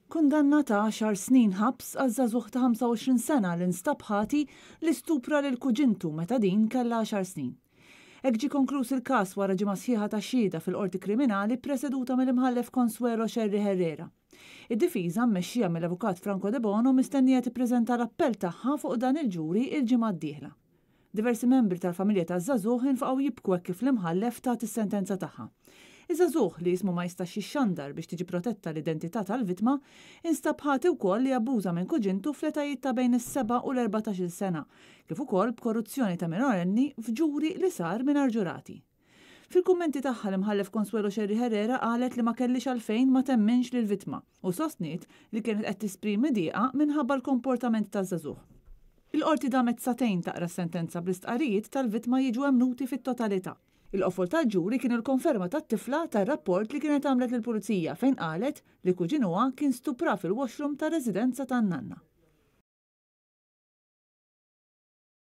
Kundanna ta' għaxar snin ħabs għal żagħżugħ ta' 25 sena li nstab ħati li stupra lil kuġintu meta din kellha għaxar snin. Hekk ġie konkluż il-każ wara ġimgħa sħiħa ta' xhieda fil-Qorti Kriminali ppreseduta mill-Imħallef Consuelo Scerri Herrera. Id-difiża mmexxija mill-Avukat Franco Debono mistennija tippreżenta l-appell tagħha fuq dan il-ġuri il-ġimgħa d-dieħla. Diversi membri tal-familja taż-żagħżugħ infaqgħu jibku hekk kif l-Imħallef tat is-sentenza tagħha. Iż-żagħżugħ, li ismu ma jistax jixxandar biex tiġi protetta l-identità tal-vittma, instab ħati wkoll li abbuża minn kuġintu fl-etajiet ta' bejn is-seba' u l-erbatax-il sena, kif ukoll b'korruzzjoni ta' minorenni f'ġuri li sar mingħajr ġurati. Fil-kummenti tagħha l-Imħallef Consuelo Scerri Herrera qalet li ma kellhiex għalfejn ma temminx lill-vittma u sostniet li kienet qed tisprimi dieqa minħabba l-komportament taż-żagħżugħ. Il-Qorti damet sagħtejn taqra s-sentenza bl-istqarrijiet tal-vittma jiġu emmnuti fit-totalità. Il-qofol tal-ġuri kien il-konferma tat-tifla tar-rapport li kienet għamlet lill-Pulizija fejn qalet li kuġinuha kien stupra fil-washroom tar-residenza tan-nanna.